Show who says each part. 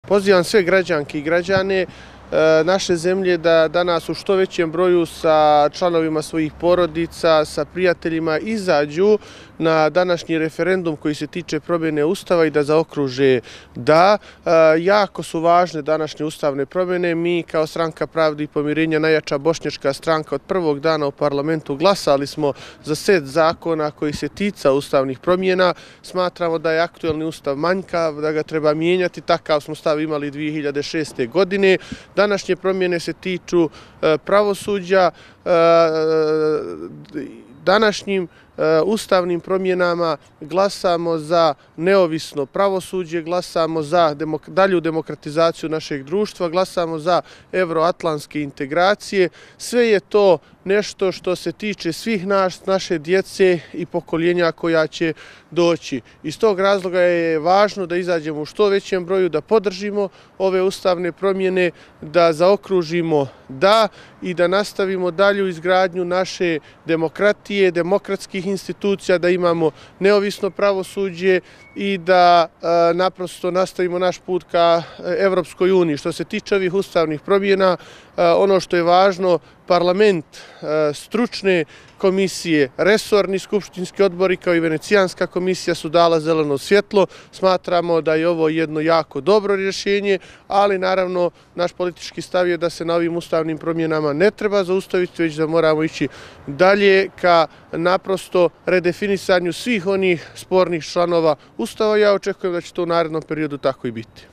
Speaker 1: Pozivam sve građanke i građane naše zemlje da danas u što većem broju sa članovima svojih porodica, sa prijateljima izađu na današnji referendum koji se tiče promjene Ustava i da zaokruže da. Jako su važne današnje ustavne promjene. Mi kao Stranka pravde i pomirenja, najjača bošnjačka stranka, od prvog dana u parlamentu glasali smo za set zakona koji se tica ustavnih promjena. Smatramo da je aktuelni ustav manjkav, da ga treba mijenjati. Takav smo stav imali 2006. godine. Današnje promjene se tiču pravosuđa. Današnjim ustavnim promjenama glasamo za neovisno pravosuđe, glasamo za dalju demokratizaciju našeg društva, glasamo za evroatlantske integracije. Sve je to nešto što se tiče svih naše djece i pokoljenja koja će doći. Iz tog razloga je važno da izađemo u što većem broju, da podržimo ove ustavne promjene, da zaokružimo da i da nastavimo dalju izgradnju naše demokratije, demokratskih institucija, da imamo neovisno pravosuđe i da naprosto nastavimo naš put ka Evropskoj uniji. Što se tiče ovih ustavnih promjena, ono što je važno, parlament, stručne komisije, resorni skupštinski odbori kao i Venecijanska komisija su dala zeleno svjetlo. Smatramo da je ovo jedno jako dobro rješenje, ali naravno naš politički stav je da se na ovim ustavnim promjenama ne treba zaustaviti, već da moramo ići dalje ka naprosto redefinisanju svih onih spornih članova Ustava. Ja očekujem da će to u narednom periodu tako i biti.